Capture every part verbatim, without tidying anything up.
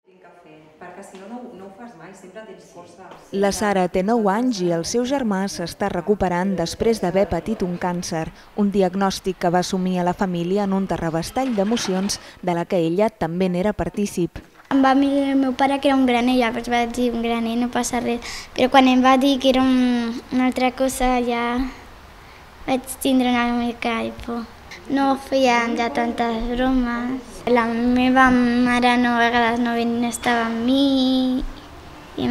Perquè si no, no ho fas mai, sempre tens força. La Sara té nou anys i el seu germà s'està recuperant després d'haver patit un càncer, un diagnòstic que va assumir a la família en un terrabastall d'emocions de la que ella també n'era partícip. Em va mirar el meu pare que era un graner, llavors va dir un graner, no passa res. Però quan em va dir que era un, una altra cosa ja vaig tindre una mica de por. No feien ja tantes bromes. La meva mare no, a vegades no estava amb mi i,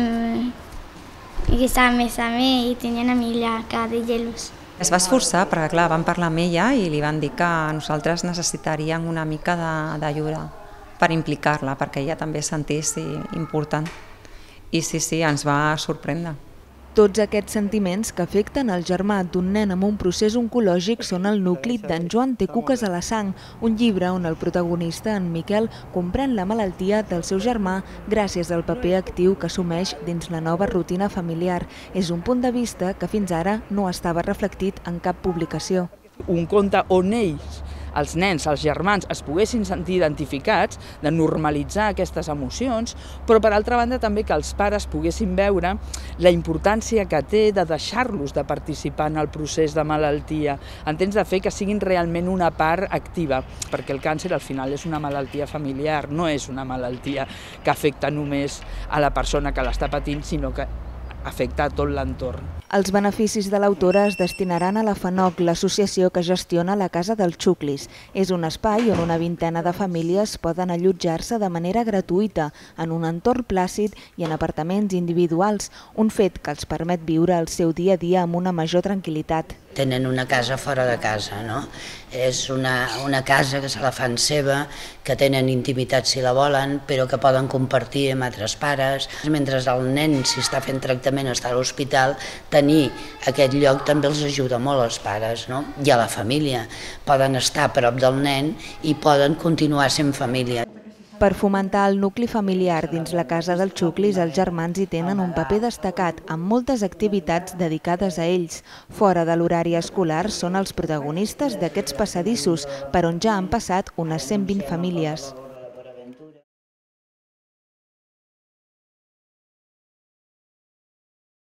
i estava més a mi i tenia una mica de gelos. Es va esforçar perquè, clar, van parlar amb ella i li van dir que nosaltres necessitaríem una mica d'ajuda per implicar-la, perquè ella també es sentís important. I sí, sí, ens va sorprendre. Tots aquests sentiments que afecten el germà d'un nen amb un procés oncològic són el nucli d'en Joan té cuques a la sang, un llibre on el protagonista, en Miquel, comprèn la malaltia del seu germà gràcies al paper actiu que assumeix dins la nova rutina familiar. És un punt de vista que fins ara no estava reflectit en cap publicació. Un conte on ells, els nens, els germans, es poguessin sentir identificats, de normalitzar aquestes emocions, però per altra banda també que els pares poguessin veure la importància que té de deixar-los de participar en el procés de malaltia, entens, de fer que siguin realment una part activa, perquè el càncer al final és una malaltia familiar, no és una malaltia que afecta només a la persona que l'està patint, sinó que afecta a tot l'entorn. Els beneficis de l'autora es destinaran a la FANOC, l'associació que gestiona la Casa dels Xuclis. És un espai on una vintena de famílies poden allotjar-se de manera gratuïta, en un entorn plàcid i en apartaments individuals, un fet que els permet viure el seu dia a dia amb una major tranquil·litat. Tenen una casa fora de casa, no? És una, una casa que se la fan seva, que tenen intimitat si la volen, però que poden compartir amb altres pares. Mentre el nen, si està fent tractament, està a l'hospital, tenir aquest lloc també els ajuda molt als pares, no? I a la família. Poden estar a prop del nen i poden continuar sent família. Per fomentar el nucli familiar dins la Casa dels Xuclis, els germans hi tenen un paper destacat amb moltes activitats dedicades a ells. Fora de l'horari escolar són els protagonistes d'aquests passadissos per on ja han passat unes cent vint famílies.